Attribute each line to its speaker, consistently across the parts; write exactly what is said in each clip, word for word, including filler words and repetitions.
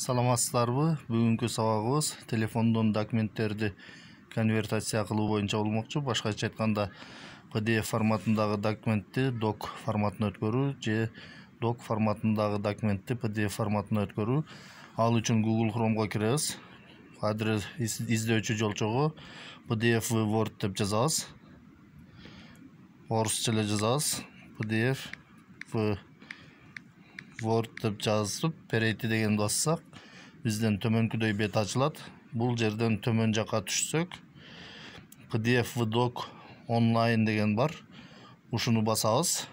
Speaker 1: Саламатсыздарбы? Бүгүнкү сабагыбыз телефондон документтерди конвертация кылуу боюнча болмокчу. Башкача айтканда, пи ди эф форматындагы документти док форматына өткөрүү же док форматындагы документти пи ди эф форматына өткөрүү. Ал үчүн Google Chrome'го киребиз. Адрес издөөчү жолчого пи ди эф Word деп жазабыз. Орусча эле жазабыз. пи ди эф Word деп жазып, перейти дегенди бассак, бизден төмөнкүдөй бет ачылат. Бул жерден төмөн жака түшсөк, пи ди эф doc онлайн деген бар. Ушуну басабыз.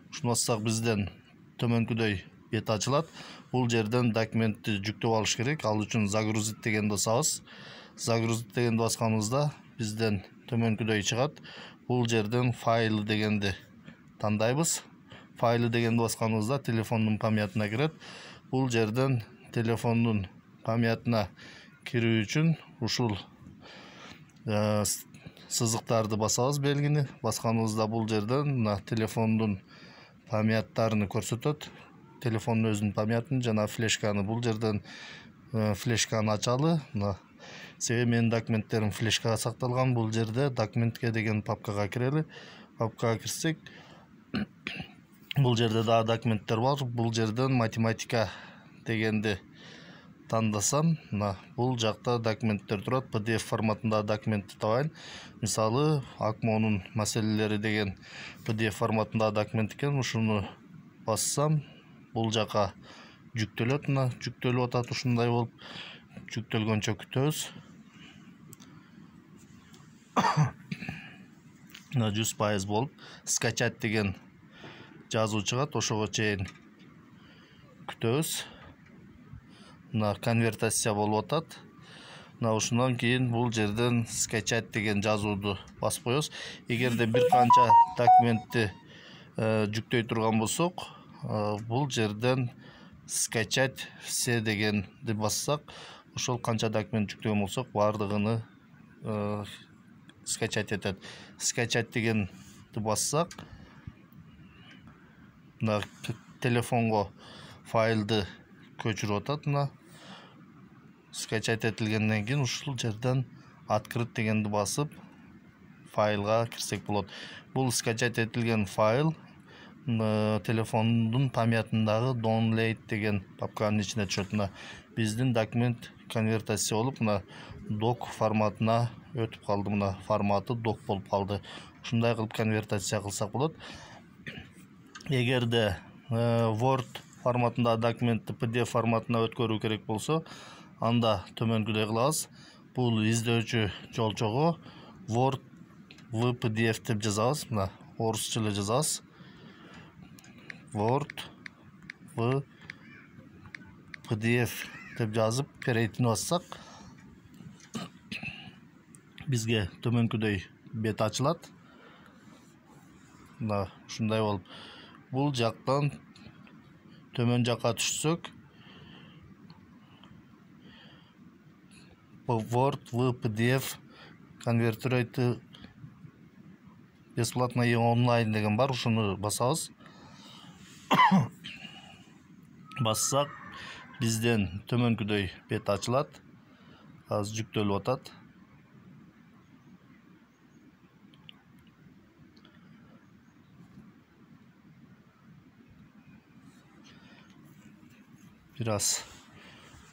Speaker 1: Ушуну бассак, бизден төмөнкүдөй бет ачылат. Бул жерден документти жүктөп алыш керек. Ал үчүн загрузить дегенди басабыз. Загрузить дегенди басканыбызда бизден төмөнкүдөй чыгат. Бул жерден файл дегенди тандайбыз. Файлы дегенди басканыбызда телефондун памятына кирет. Бул жерден телефондун памятына кирүү үчүн ушул э, сызыктарды басабыз, белгини. Басканыбызда бул жерден мына телефондун памяттарын көрсөтөт. Телефондун өзүнүн памятын жана флешканы. Бул жерден э, флешканы ачалы. Мына себеби менин документтерим флешкага сакталган. Бул жерде документке деген папкага кирели. Папкага кирсек, бул жерде дагы документтер бар. Бул жерден математика дегенди тандасам, мына бул жакта документтер турат. пи ди эф форматындагы документти табайын. Мисалы, акмонун маселелери деген пи ди эф форматындагы документ экен. Ушуну бассам, бул жака жүктөлөт. Мына жүктөлүп атат ушундай болуп. Жүктөлгөнчө күтөбүз. Мына жүз пайыз болуп, скачать деген жазуу чыгат, ошого чейин күтөбүз. Мына конвертация болуп атат. Мына ушундан кийин бул жерден скачать деген жазууду басып коебуз. Эгерде бир канча документти э, жүктөй турган болсок, э, бул жерден скачать все дегенди бассак, ошол канча документ жүктөгөн болсок, бардыгыны э, скачать этет. Скачать дегенди бассак, мына телефонго файлды көчүрүп атат. Мына скачать этилгенден кийин ушул жерден открыть дегенди басып, файлга кирсек болот. Бул скачать этилген файл телефондун памятындагы download деген папканын ичине түшөт. Мына биздин документ конвертация болуп, мына док форматына өтүп калды. Мына форматы док болуп калды. Ушундай кылып конвертация кылсак болот. Эгерде Word форматындагы документти пи ди эф форматына өткөрүү керек болсо, анда төмөнкүдөй кылабыз. Бул издөөчү жолчого Word в пи ди эф деп жазабыз. Мына орусча эле жазабыз. Word в пи ди эф деп жазып, перейтини бассак, бизге төмөнкүдөй бет ачылат. Мына ушундай болуп, бул жактан төмөн жака түшсөк, Word в пи ди эф конвертировать бесплатно и онлайн деген бар. Ушуну басабыз. Бассак, бизден төмөнкүдөй бет ачылат. Азыр жүктөлүп атат. Бир аз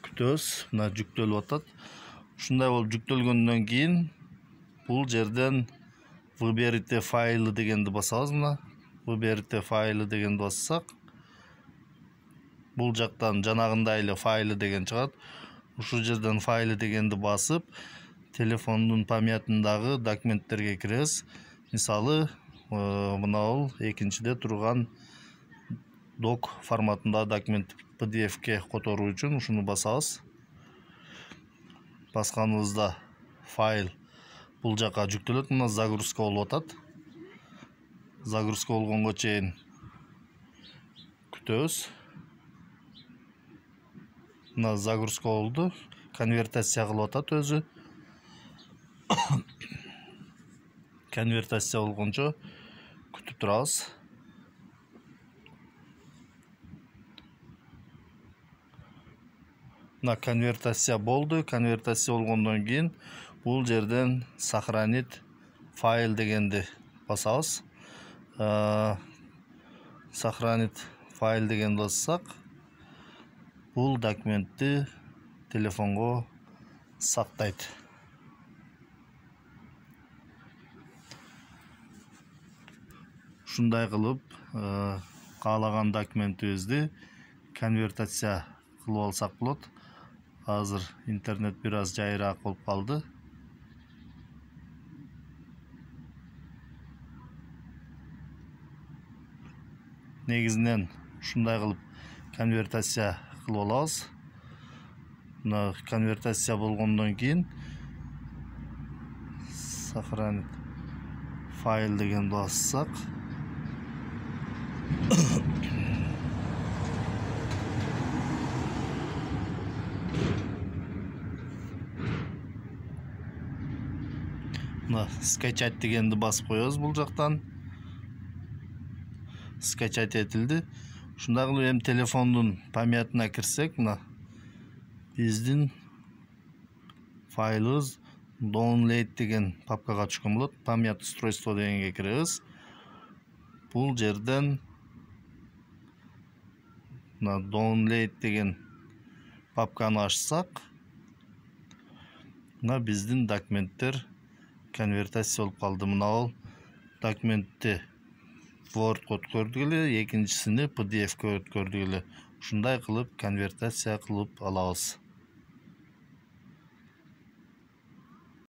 Speaker 1: күтөбүз. Мына жүктөлүп атат. Ушундай болуп жүктөлгөндөн кийин бул жерден выберите файлы дегенди басабыз. Мына выберите файлы дегенди бассак, бул жактан жанагындай эле файлы деген чыгат. Ушул жерден файлы дегенди басып, телефондун памятындагы документтерге киребиз. Мисалы, мынабул экинчиде турган док форматындагы документ пи ди эфке которуу үчүн ушуну басабыз. Басканыбызда файл бул жака жүктөлөт. Мына загрузка болуп атат. Загрузка болгонго чейин күтөбүз. Мына загрузка болду. Конвертация кылып атат өзү. Конвертация болгончо күтүп турабыз. Мына конвертация болду. Конвертация болгондон кийин бул жерден сохранить файл дегенди басабыз. Сохранить файл деген бассак, бул документти телефонго сактайт. Ушундай кылып каалаган документибизди конвертация кылып алсак болот. Азыр интернет бир аз жайыраак болуп калды. Негизинен ушундай кылып конвертация кылып алабыз. Мына конвертация болгондон кийин сохранить файл деген бассак, мына скачать дегенди басып коебуз. Бул жактан скачать этилди. Ушундай кылып эми телефондун памятына кирсек, мына биздин файлыбыз download деген папкага түшкөн болот. Память устройство дегенге киребиз. Бул жерден мына download деген папканы ачсак, мына биздин документтер конвертация болуп калды. Мына ал документти Word'га өткөрдүк эле, экинчисини пи ди эф ке өткөрдүк эле. Ушундай кылып конвертация кылып алабыз.